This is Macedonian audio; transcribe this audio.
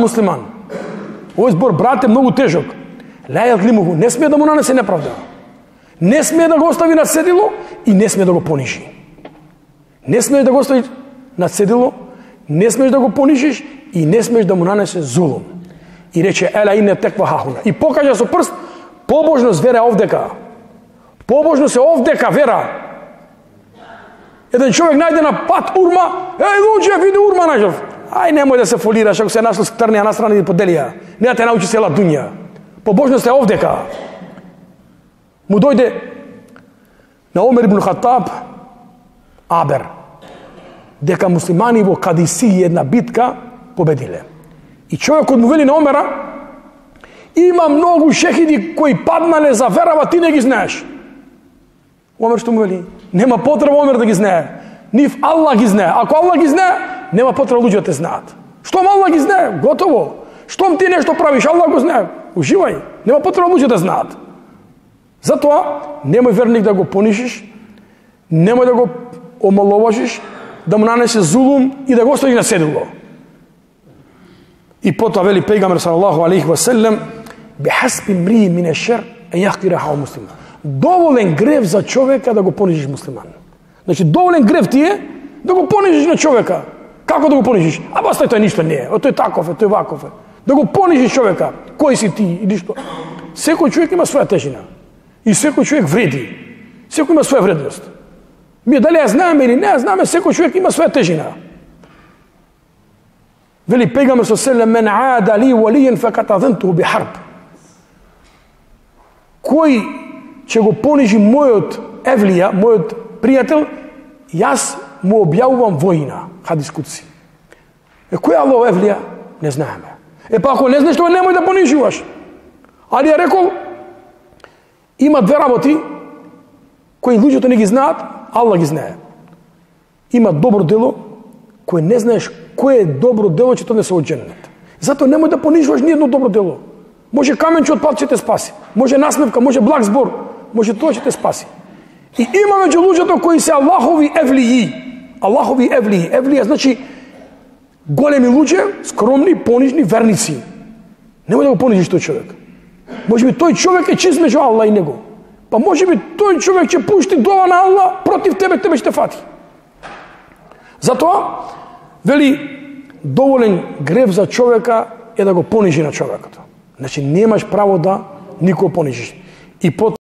муслиман. Овој збор, брат, е многу тежок. Ла јазлимуху, не смее да му нанесе неправда. Не смее да го остави на седило и не смее да го понижи. Не смееш да го оставиш на седило, не смееш да го понижиш и не смееш да му нанесе зулум. И рече, ела ине теква хахуна. И покажа со прст, побожност вера овдека. Побожност е овдека вера. Еден човек најде на пат урма, луѓе, види урма најдов. Ај, немој да се фолираш, ако се нашол скрнија настрана и поделија. Не да те научи села дуња. Побожност е овдека. Му дојде на Омер ибн Хатаб абер, дека муслимани во Кадиси една битка победиле. И човекот му вели на Омера, има многу шехиди кои паднале за верава, ти не ги знаеш. Омер што му вели? Нема потреба Омер да ги знае. Нив Аллах ги знае. Ако Аллах ги знае, нема потреба луѓето да те знаат. Штом Аллах ги знае, готово. Штом ти нешто правиш, Аллах го знае. Уживај. Нема потреба луѓето да знаат. Затоа, немој верник да го понишиш, немој да го омаловажиш, да му нанесе зулум и да го оставиш на седило. И потоа вели пејгамбер салаллаху алейхи ва селем, бихасби мри мин аш-шар ан јахкира хау муслиман. Доволен грев за човека да го понижиш муслиман. Значи доволен грев ти е да го понижиш на човека. Како да го понижиш? А баста тој ништо не е. Тој таков е, тој ваков е. Да го понижиш човека. Кој си ти и ништо. Секој човек има своја тежина. И секој човек вреди. Секој има своја вредност. Ми дали ја знаеме или не ја знаеме, секој човек има своја тежина. Вели пејгамбер со селем, мен аада ли валиен факат азентуху би харб. Кој ќе го понижи мојот евлија, мојот пријател, јас му објавувам војна. Хадис кудси. Кој е Аллах евлија? Не знаеме. Па ако не знаеш тоа, немој да понижуваш. Али ја рекол, има две работи кои луѓето не ги знаат, Аллах ги знае. Има добро дело кое не знаеш кое е добро дело, че тоа не се од џеннет. Затоа немој да понижуваш ни едно добро дело. Може каменче од пат ќе те спаси, може насмевка, може благ збор, може тоа ќе те спаси. И има меѓу луѓето кои се Аллахови евлии. Аллахови евлии. Евлија значи големи луѓе, скромни, понижни, верници. Немој да го понижиш тој човек. Може би тој човек е чист меѓу Аллах и него. Па може би тој човек ќе пушти дова на Аллах против тебе, тебе ќе те фати. Затоа, вели, доволен грев за човека е да го понижи на човекот. Значи, немаш право да никого понижиш. И